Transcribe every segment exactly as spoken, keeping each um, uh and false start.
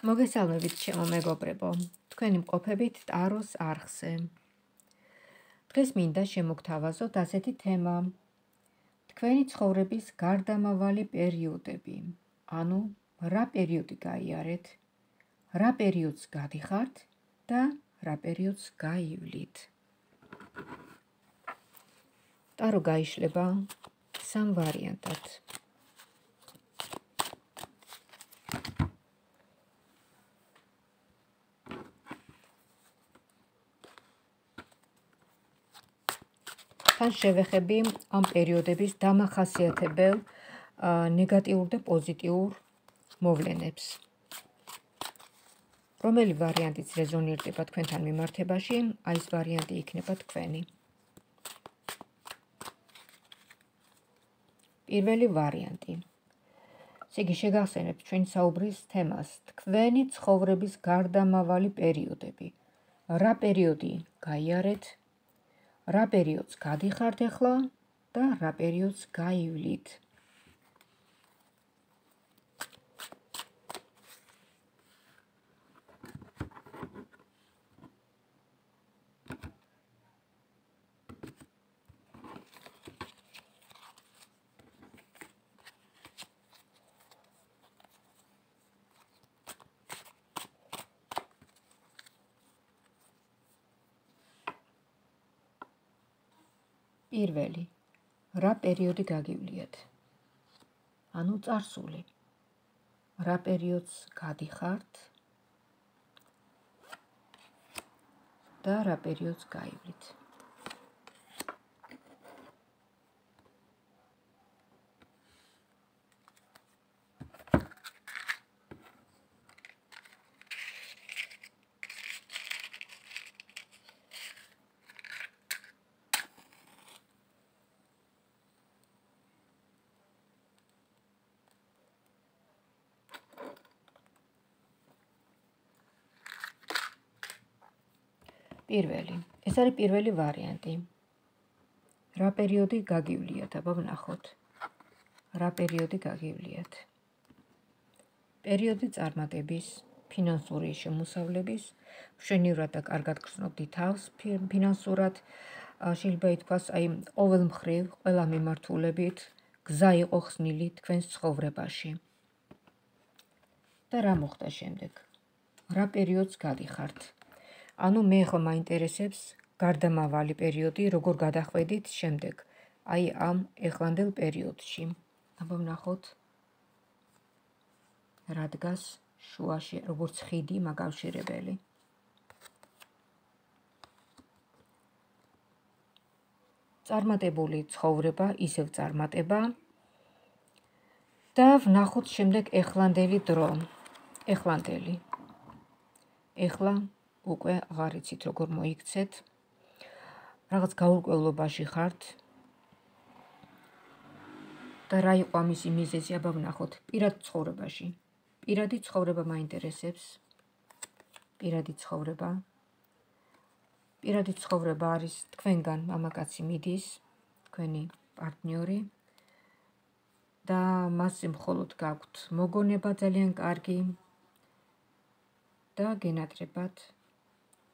მოგესალმებით ჩემო მეგობრებო, თქვენი მყოფებით ტაროს არხზე. დღეს მინდა შემოგთავაზოთ ასეთი თემა: თქვენი ცხოვრების გარდამავალი პერიოდები. ანუ რა პერიოდი გაიარეთ, რა პერიოდს გადიხართ და რა პერიოდს გაივლით. ტარო გაიშლება სამ ვარიანტად. თან შევეხები ამ პერიოდების დამახასიათებელ ნეგატიურ და პოზიტიურ მოვლენებს. რომელი ვარიანტიც რეზონირდება თქვენთან მიმართებაში, აი ეს ვარიანტი იქნება თქვენი. პირველი ვარიანტი. ესე იგი, შეგახსენებთ ჩვენი საუბრის თემას: თქვენი ცხოვრების გარდამავალი პერიოდები. რა პერიოდი გაიარეთ, რა პერიოდს გადიხართ ახლა და რა პერიოდს გაივლით. პირველი, რა პერიოდი გაგივლიათ? ანუ წარსული. რა პერიოდს გადიხართ და რა პერიოდს გაივლით. პირველი. ეს არის პირველი ვარიანტი. რა პერიოდი გაგივლიათ? აბა ვნახოთ. რა პერიოდი გაგივლიათ? პერიოდი წარმატების, ფინანსური შემოსავლების, მშვენივრად და კარგად გრძნობდი თავს ფინანსურად, შეიძლება ითქვას, აი, ყოველ მხრივ, ყველა მიმართულებით გზა იყო ხსნილი თქვენს ცხოვრებაში. და რა მოხდა შემდეგ? რა პერიოდს გადიხართ? ანუ მე ხო მაინტერესებს გარდამავალი პერიოდი, როგორ გადახვედით შემდეგ, აი ამ ეხლანდელ პერიოდში. აბა ვნახოთ რა დგას შუაში, როგორც ხიდი მაკავშირებელი. წარმატებული ცხოვრება, ისევ წარმატება და ვნახოთ შემდეგ ეხლანდელი დრო. ეხლანდელი. ეხლა უკვე აღარ იცით როგორ მოიქცეთ, რაღაც გაურკვევლობაში ხართ და რა იყო ამისი მიზეზი, აბა ვნახოთ. პირად ცხოვრებაში. პირადი ცხოვრება მაინტერესებს. პირადი ცხოვრება. პირადი ცხოვრება არის თქვენგან მამაკაცი მიდის, თქვენი პარტნიორი და მასზე მხოლოდ გაქვთ მოგონება ძალიან კარგი და გენატრებათ.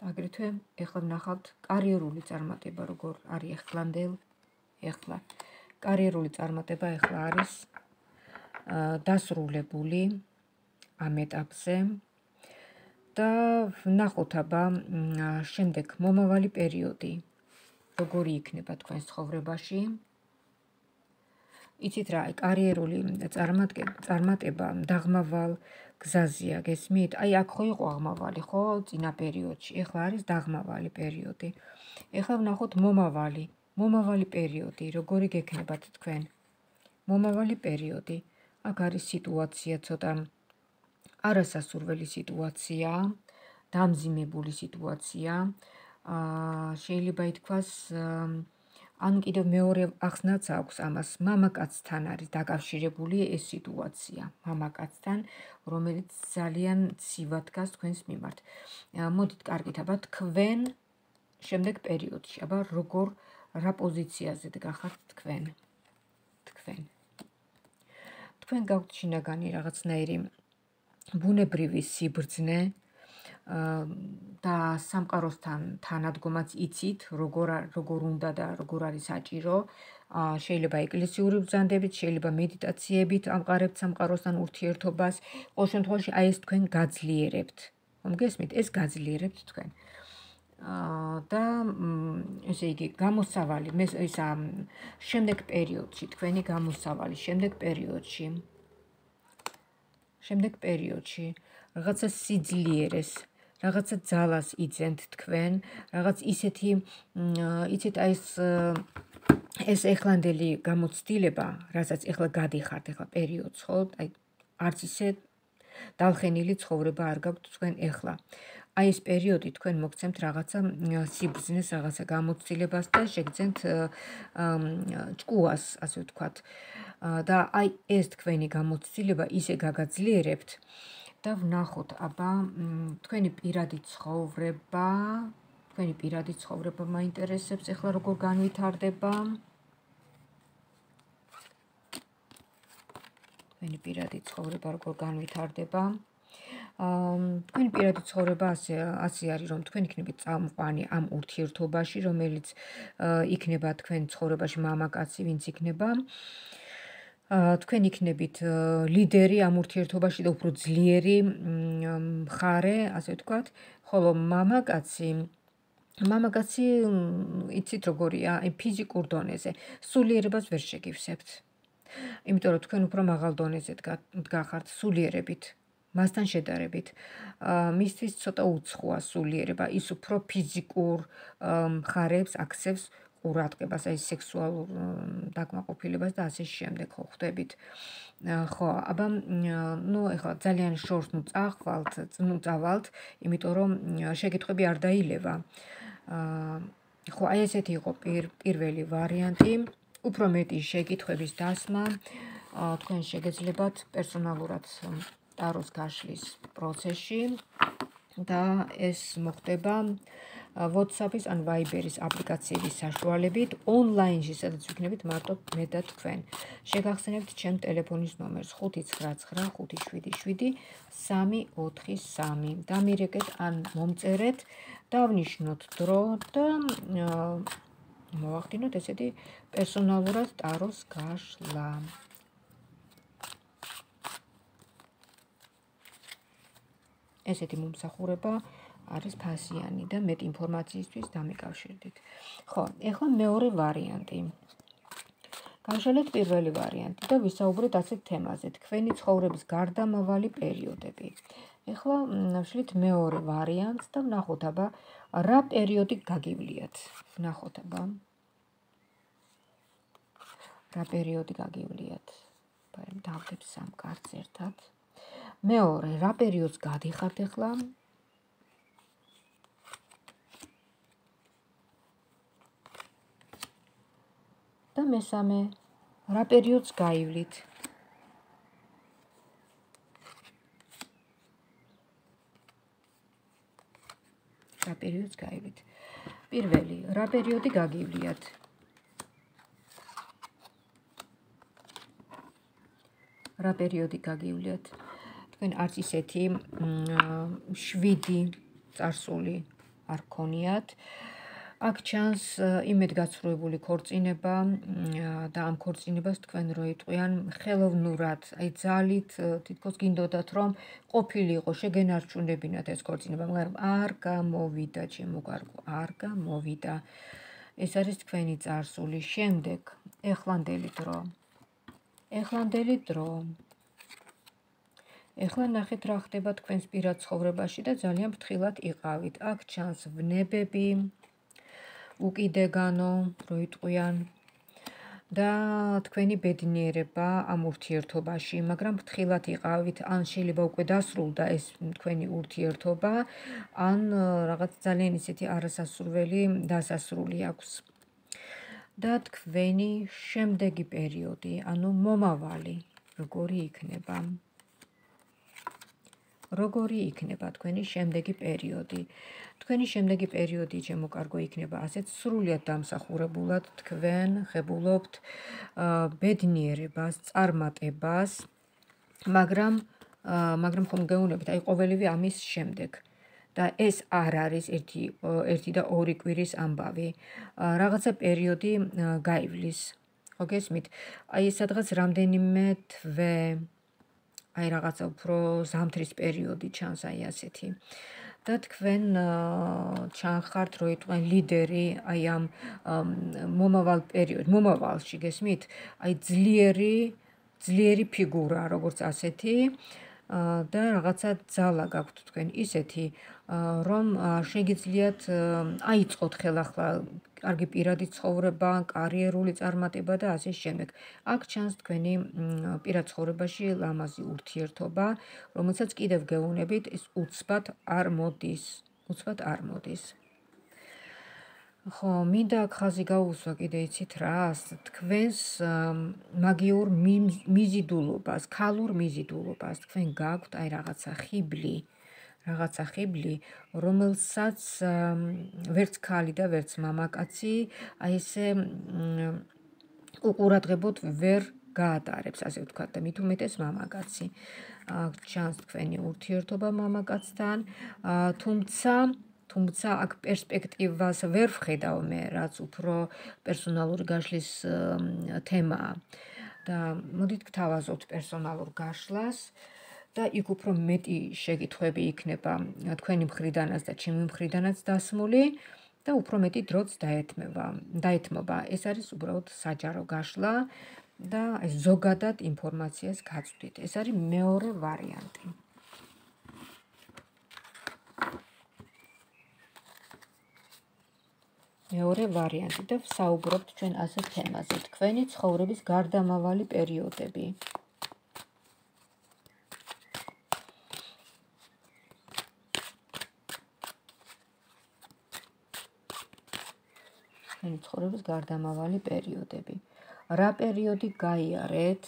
აგრეთვე ეხლა ვნახავთ კარიერული წარმატება, როგორ არის ეხლანდელ, ეხლა. კარიერული წარმატება ეხლა არის დასრულებული ამ ეტაპზე და ვნახოთ აბა შემდეგ მომავალი პერიოდი, როგორი იქნება თქვენს ცხოვრებაში. იცით რა, კარიერული წარმატება დაღმავალ გზაზეა, გესმით? აი აქ ხო იყო აღმავალი, ხო, წინა პერიოდში, ეხლა არის დაღმავალი პერიოდი. ეხლა ვნახოთ მომავალი, მომავალი პერიოდი, როგორი გექნებათ თქვენ. მომავალი პერიოდი. აქ არის სიტუაცია ცოტა არასასურველი სიტუაცია, დამძიმებული სიტუაცია. შეიძლება ითქვას, ან კიდევ მეორე ახსნაც აქვს ამას, მამაკაცთან არის დაკავშირებული ეს სიტუაცია, მამაკაცთან, რომელიც ძალიან ცივად დგას თქვენს მიმართ. მოდით კარგით, აბა თქვენ შემდეგ პერიოდში, აბა როგორ, რა პოზიციაზე დგახართ თქვენ. თქვენ. თქვენ გაქვთ შინაგანი რაღაცნაირი ბუნებრივი სიბრძნე და სამყაროსთან თანადგომაც იცით, როგორ როგორ უნდა და როგორ არის საჭირო. შეიძლება ეკლესიური ბრძანდებით, შეიძლება მედიტაციებით ამყარებთ სამყაროსთან ურთიერთობას. ყოველ შემთხვევაში აი ეს თქვენ გაძლიერებთ. მოგესმით, ეს გაძლიერებთ თქვენ. და ესე იგი გამოსავალი, ისა შემდეგ პერიოდში, თქვენი გამოსავალი შემდეგ პერიოდში. შემდეგ პერიოდში რაღაცა სიძლიერეს, რაღაცა ძალას იძენთ თქვენ, რაღაც ისეთი, იცით, აი ეს ეს ეხლანდელი გამოცდილება, რასაც ეხლა გადიხართ, ეხლა პერიოდს, ხო? აი არც ისე დალხენილი ცხოვრება არ გაქვთ თქვენ ეხლა. აი ეს პერიოდი თქვენ მოგცემთ რაღაცა სიბრძნეს, რაღაცა გამოცდილებას და შეგძენთ ჭკუას, ასე ვთქვათ. და აი ეს თქვენი გამოცდილება ისე გაგაძლიერებთ და ვნახოთ, აბა თქვენი პირადი ცხოვრება, თქვენი პირადი ცხოვრება მაინტერესებს ეხლა როგორ განვითარდება. თქვენი პირადი ცხოვრება როგორ განვითარდება. თქვენი პირადი ცხოვრება ასე ასე არის, რომ თქვენ იქნებით წამყვანი ამ ურთიერთობაში, რომელიც იქნება თქვენ ცხოვრებაში მამაკაცი, ვინც იქნება. თქვენ იქნებით ლიდერი ამ ურთიერთობაში და უფრო ძლიერი მხარე, ასე ვთქვათ, ხოლო მამაკაცი მამაკაცი იცით როგორია, აი ფიზიკურ დონეზე სულიერებას ვერ შეგივსებთ. იმიტომ რომ თქვენ უფრო მაღალ დონეზე დგახართ სულიერებით. მასთან შედარებით, მისთვის ცოტა უცხოა სულიერება, ის უფრო ფიზიკურ მხარეებს აქცევს ყურადღებას, აი სექსუალურ დაკმაყოფილებას და ასე შემდეგ ხო ხვდებით. ხო, აბა, ნუ ეხლა ძალიან შორს ნუ წახვალთ, ნუ წავალთ, იმიტომ რომ შეკითხვები არ დაილევა. ხო, აი ესეთი იყო პირველი ვარიანტი, უფრო მეტი შეკითხვების დასმა, თქვენ შეგეძლებათ პერსონალურად ტაროს გაშლის პროცესში და ეს მოხდება WhatsApp-ის ან Viber-ის აპლიკაციების საშუალებით ონლაინში, სადაც ვიქნებით მარტო მე და თქვენ. შეგახსენებთ ჩემ ტელეფონის ნომერს ხუთი ცხრა ცხრა ხუთი შვიდი შვიდი სამი ოთხი სამი. დამირეკეთ ან მომწერეთ, დავნიშნოთ დრო და მოვახდინოთ ესეთი პერსონალურად ტაროს გაშლა. ესეთი მომსახურება არის ფასიანი და მეტ ინფორმაციისთვის დამიკავშირდით. ხო, ეხლა მეორე ვარიანტი. გავშალეთ პირველი ვარიანტი და ვისაუბრეთ ასეთ თემაზე, თქვენი ცხოვრების გარდამავალი პერიოდები. ეხლა ვშლით მეორე ვარიანტს და ვნახოთ, აბა, რა პერიოდი გაგივლიათ. ვნახოთ, აბა. რა პერიოდი გაგივლიათ. დავდებ სამ კარტს ერთად. მეორე, რა პერიოდს გადიხართ ეხლა? და მესამე, რა პერიოდს გაივლით? რა პერიოდს გაივლით? პირველი, რა პერიოდი გაგივლიათ? რა პერიოდი გაგივლიათ? თქვენ არც ისეთი შვიდი წარსული არ გქონიათ. აქ ჩანს იმედგაცრუებული ქორწინება და ამ ქორწინებას თქვენ რო იტყვიან ხელოვნურად, აი ძალით, თითქოს გინდოდათ რომ ყოფილიყო, შეგენარჩუნებინათ ეს ქორწინება, მაგრამ არ გამოვიდა, ჩემო კარგო, არ გამოვიდა. ეს არის თქვენი წარსული. შემდეგ, ეხლანდელი დრო. ეხლანდელი დრო. ეხლა ნახეთ რა ხდება თქვენს პირად ცხოვრებაში და ძალიან ფრთხილად იყავით. აქ ჩანს ვნებები, უკიდეგანო, რო იტყვიან და თქვენი ბედნიერება ამ ურთიერთობაში, მაგრამ ფრთხილად იყავით, ან შეიძლება უკვე დასრულდა ეს თქვენი ურთიერთობა, ან რაღაც ძალიან ისეთი არასასურველი დასასრული აქვს. და თქვენი შემდეგი პერიოდი, ანუ მომავალი, როგორი იქნება? როგორი იქნება თქვენი შემდეგი პერიოდი? თქვენი შემდეგი პერიოდი, ჩემო კარგო, იქნება ასეთ სრულიად დამსახურებულად თქვენ ხებულობთ ბედნიერებას, წარმატებას, მაგრამ მაგრამ ხომ გეუბნებით, აი ყოველივე ამის შემდეგ. და ეს არ არის ერთი ერთი და ორი კვირის ამბავი. რაღაცა პერიოდი გაივლის. ხო გესმით? აი სადღაც რამდენიმე თვე, აი რაღაცა უფრო ზამთრის პერიოდი ჩანს აი ასეთი. და თქვენ ჩანხართ, რომ იტყვენ ლიდერი აი ამ მომავალ პერიოდ, მომავალში გესმით? აი ძლიერი, ძლიერი ფიგურა, როგორც ასეთი. და რაღაცა ძალა გაქვთ თქვენ ისეთი, რომ შეგიძლიათ აიწყოთ ხელახლა კარგი პირადი ცხოვრება, კარიერული წარმატება და ასე შემდეგ. აქ ჩანს თქვენი პირად ცხოვრებაში ლამაზი ურთიერთობა, რომელსაც კიდევ გეუბნებით, ის უცბად არ მოდის, უცბად არ მოდის. ხო, მინდა აქ ხაზი გაუსვა კიდე იცით რას? თქვენს მაგიურ მიზიდულობას, ქალურ მიზიდულობას, თქვენ გაქვთ აი რაღაცა ხიბლი, რაღაცა ხიბლი, რომელსაც ვერც ქალი და ვერც მამაკაცი აი ესე უყურადღებოდ ვერ გაატარებს, ასე ვთქვათ, და მით უმეტეს მამაკაცი. ჩანს თქვენი ურთიერთობა მამაკაცთან, თუმცა თუმცა აქ პერსპექტივას ვერ ვხედავ მე, რაც უფრო პერსონალური გაშლის თემაა. და მოდით გთავაზობთ პერსონალურ გაშლას და იქ უფრო მეტი შეკითხვები იქნება თქვენი მხრიდანაც და ჩემი მხრიდანაც დასმული და უფრო მეტი დროც დაეთმება, დაეთმობა. ეს არის უბრალოდ საჯარო გაშლა და ზოგადად ინფორმაციას გაწვდით. ეს არის მეორე ვარიანტი. მეორე ვარიანტი და ვსაუბრობთ ჩვენ ასეთ თემაზე. თქვენი ცხოვრების გარდამავალი პერიოდები. თქვენი ცხოვრების გარდამავალი პერიოდები. რა პერიოდი გაიარეთ,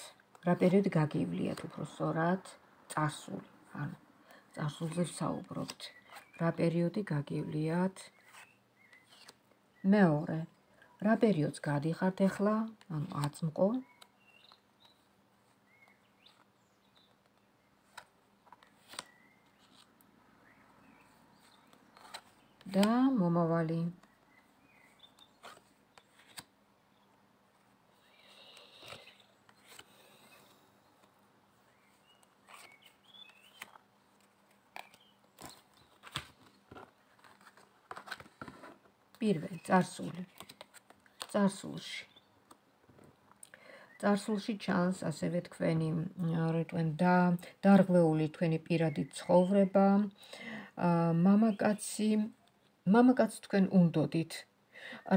რა პერიოდი გაგივლიათ უფრო სწორად, წარსული. ანუ წარსულზე ვსაუბრობთ. რა პერიოდი გაგივლიათ? მეორე, რა პერიოდს გადიხართ ახლა, ანუ აწმყო. და მომავალი. პირველი, წარსული. წარსულში. წარსულში ჩანს ასევე თქვენი, რა თქვენ, და დარღვეული თქვენი პირადი ცხოვრება. მამაკაცი, მამაკაცს თქვენ უნდოდით.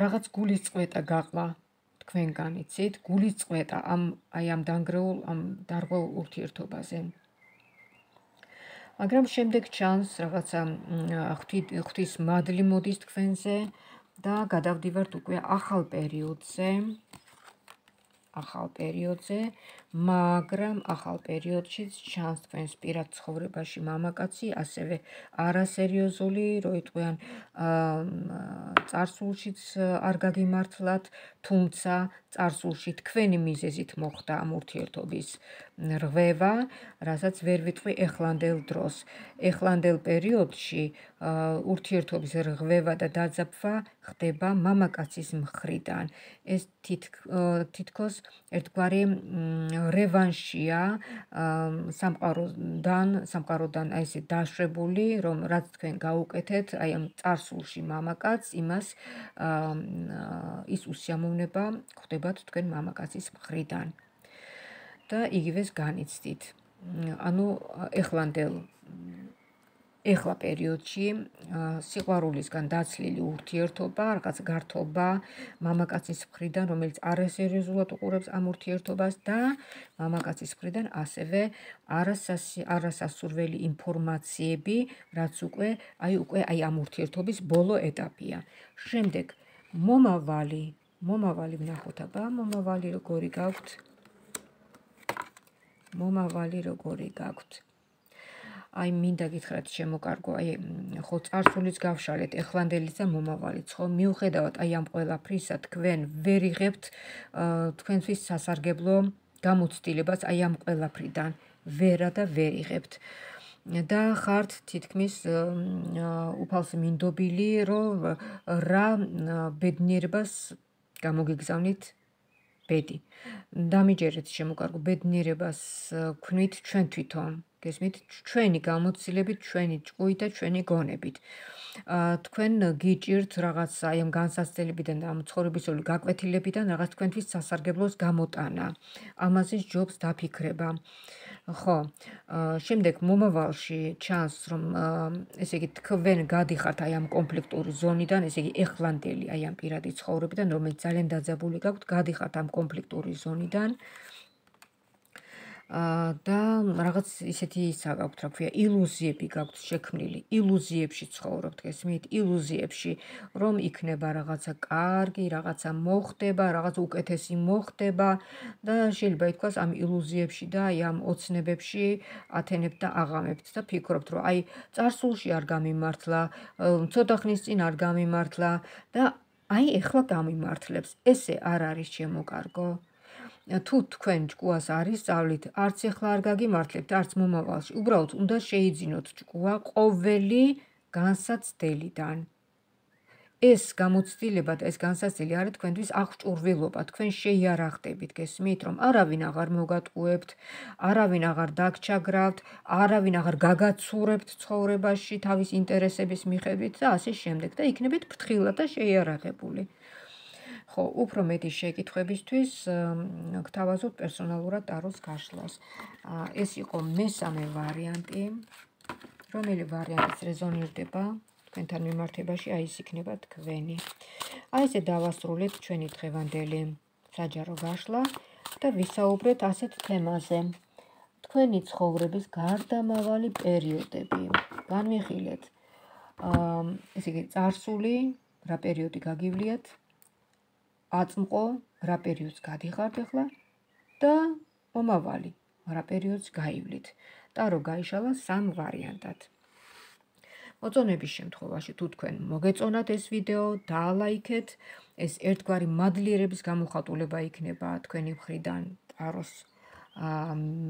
რაღაც გულის წყვეტა გაყვა თქვენგან, იცით? გულის წყვეტა ამ აი ამ დანგრეულ, ამ დარღვეულ ურთიერთობაზე. მაგრამ შემდეგ ჩანს რაღაცა ღვთის მადლი მოდის თქვენზე და გადავდივართ უკვე ახალ პერიოდზე. ახალ პერიოდზე, მაგრამ ახალ პერიოდშიც ჩანს თქვენს პირად ცხოვრებაში მამაკაცი, ასევე არასერიოზული, რო იტყვიან, წარსულშიც არ გაგიმართლათ, თუმცა წარსულში თქვენი მიზეზით მოხდა ამ ურთიერთობის რღვევა, რასაც ვერ ვიტყვი ეხლანდელ დროს. ეხლანდელ პერიოდში ურთიერთობის რღვევა და დაძაბვა ხდება მამაკაცის მხრიდან. ეს თითქოს ერთგვარი რევანშია სამყაროდან, სამყაროდან აი ესე დაშვებული, რომ რაც თქვენ გაუკეთეთ, აი ამ წარსულში მამაკაცს, იმას ის უსიამოვნება ხდებათ თქვენ მამაკაცის მხრიდან. და იგივეს განიცდით. ანუ ეხლანდელ ეხლა პერიოდში სიყვარულისგან დაცლილი ურთიერთობა, რაღაც გართობა მამაკაცის მხრიდან, რომელიც არასერიოზულად უყურებს ამ ურთიერთობას და მამაკაცის მხრიდან ასევე არასასურველი ინფორმაციები, რაც უკვე აი უკვე აი ამ ურთიერთობის ბოლო ეტაპია. შემდეგ მომავალი, მომავალი ვნახოთ აბა, მომავალი როგორი გაქვთ? მომავალი როგორი გაქვთ? აი მინდა გითხრათ შემოკარგო, აი ხო წარსულიც გავშალეთ, ეხლანდელიც და მომავალიც, ხო? მიუხედავად აი ამ ყველაფრისა, თქვენ ვერ იღებთ თქვენთვის სასარგებლო გამოცდილებას აი ამ ყველაფრიდან. ვერა და ვერ იღებთ. და ხართ თითქმის უფალს მინდობილი, რომ რა ბედნიერებას გამოგიგზავნით ბედი. დამიჯერეთ შემოკარგო ბედნიერებას ვქნით ჩვენ თვითონ, გესმით? ჩვენი გამოცდილებით, ჩვენი ჭკუით და ჩვენი გონებით. თქვენ გიჭირთ რაღაც აი ამ განსაცდელებიდან და ამ ცხოვრებისეული გაკვეთილებიდან რაღაც თქვენთვის სასარგებლოს გამოტანა. ამაზე ჯობს დაფიქრება. ხო, შემდეგ მომავალში ჩანს, რომ ესე იგი თქვენ გადიხართ აი ამ კონფლიქტური ზონიდან, ესე იგი ეხლანდელი აი ამ პირადი ცხოვრებიდან, რომელიც ძალიან დაძაბული გაქვთ, გადიხართ ამ კონფლიქტური ზონიდან. და რაღაც ისეთი ისა გაქვთ, რა ქვია, ილუზიები გაქვთ შექმნილი, ილუზიებში ცხოვრობთ, გესმით? ილუზიებში, რომ იქნება რაღაცა კარგი, რაღაცა მოხდება, რაღაც უკეთესი მოხდება და შეიძლება ითქვას ამ ილუზიებში და აი ამ ოცნებებში ათენებთ და აღამებთ და ფიქრობთ, რომ აი წარსულში არ გამიმართლა, ცოტა ხნის წინ არ გამიმართლა და აი ეხლა გამიმართლებს. ესე არ არის შემოკარგო. თუ თქვენ ჭკუას არ ისწავლით, არც ეხლა არ გაგიმართლებთ, არც მომავალში. უბრალოდ უნდა შეიძინოთ ჭკუა ყოველი განსაცდელიდან. ეს გამოცდილება და ეს განსაცდელი არის თქვენთვის აღჭურვილობა, თქვენ შეიარაღდებით, გესმით, რომ არავინ აღარ მოგატყუებთ, არავინ აღარ დაგჩაგრავთ, არავინ აღარ გაგაცურებთ ცხოვრებაში თავის ინტერესების მიხედვით და ასე შემდეგ და იქნებით ფრთხილად და შეიარაღებული. ხო, უფრო მეტი შეკითხვებისთვის გთავაზობთ პერსონალურად ტაროს გაშლას. ეს იყო მესამე ვარიანტი, რომელი ვარიანტიც რეზონირდება თქვენთან მიმართებაში, აი ეს იქნება თქვენი. აი ესე დავასრულეთ ჩვენი დღევანდელი საჯარო გაშლა და ვისაუბრეთ ასეთ თემაზე. თქვენი ცხოვრების გარდამავალი პერიოდები. განვიხილეთ, ესე იგი წარსული, რა პერიოდი გაგივლიათ, აწმყო, რა პერიოდს გადიხართ ახლა და მომავალი, რა პერიოდს გაივლით. ტარო გაიშალა სამ ვარიანტად. მოწონების შემთხვევაში, თუ თქვენ მოგეწონათ ეს ვიდეო, დაალაიქეთ, ეს ერთგვარი მადლიერების გამოხატულება იქნება თქვენი მხრიდან ტაროს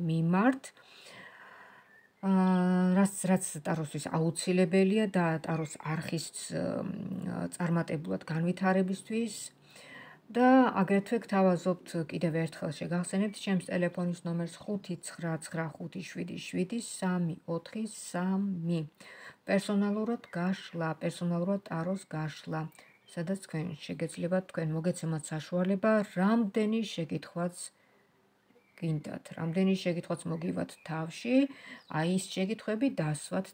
მიმართ. რაც რაც ტაროსთვის აუცილებელია და ტაროს არხის წარმატებულად განვითარებისთვის. და აგრეთვე გთავაზობთ კიდევ ერთხელ შეგახსენებთ ჩემს ტელეფონის ნომერს ხუთი ცხრა ცხრა ხუთი შვიდი შვიდი სამი ოთხი სამი. პერსონალურად გაშლა, პერსონალურად ტაროს გაშლა, სადაც თქვენ შეგეძლებათ, თქვენ მოგეცემათ საშუალება, რამდენი შეკითხვაც გინდათ, რამდენი შეკითხვაც მოგივათ თავში, აი ეს შეკითხვები დასვათ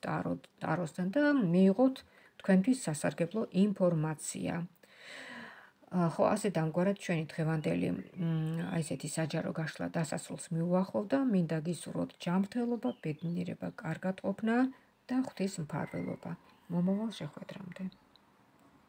ტაროსთან და მიიღოთ თქვენთვის სასარგებლო ინფორმაცია. ხო, ასე დამგვარად ჩვენი დღევანდელი აი ესეთი საჯარო გაშლა დასასრულს მიუახლოვდა, მინდა გისურვოთ ჯანმრთელობა, ბედნიერება, კარგად ყოფნა და ღვთის მფარველობა. მომავალ შეხვედრამდე.